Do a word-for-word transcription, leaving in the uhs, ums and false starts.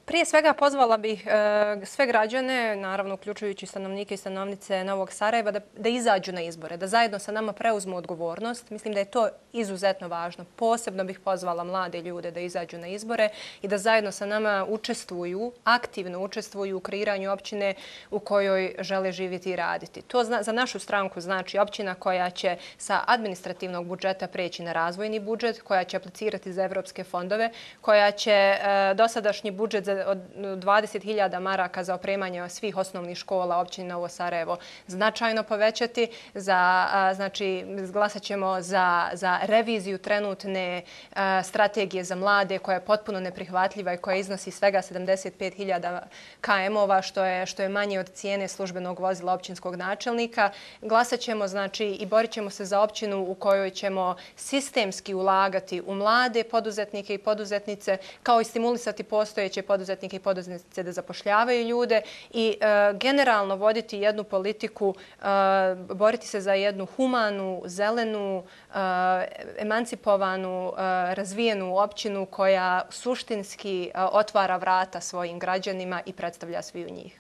Prije svega pozvala bih sve građane, naravno uključujući stanovnike i stanovnice Novog Sarajeva, da, da izađu na izbore, da zajedno sa nama preuzmu odgovornost. Mislim da je to izuzetno važno. Posebno bih pozvala mlade ljude da izađu na izbore i da zajedno sa nama učestvuju, aktivno učestvuju u kreiranju općine u kojoj žele živjeti i raditi. To zna, za našu stranku znači općina koja će sa administrativnog budžeta preći na razvojni budžet, koja će aplicirati za evropske fondove, koja će e, dosadašnji budžet za, od dvadeset hiljada maraka za opremanje svih osnovnih škola općine Novo Sarajevo značajno povećati. Za, a, znači, glasat ćemo za, za reviziju trenutne a, strategije za mlade koja je potpuno neprihvatljiva i koja iznosi svega sedamdeset pet hiljada km-ova, što je, što je manje od cijene službenog vozila općinskog načelnika. Glasat ćemo znači, i borit ćemo se za općinu u kojoj ćemo sistemski ulagati u mlade poduzetnike i poduzetnice, kao i stimulisati postojeće poduzetnike i poduzetnice da zapošljavaju ljude i e, generalno voditi jednu politiku, e, boriti se za jednu humanu, zelenu, e, emancipovanu, e, razvijenu općinu koja suštinski e, otvara vrata svojim građanima i predstavlja svi u njih.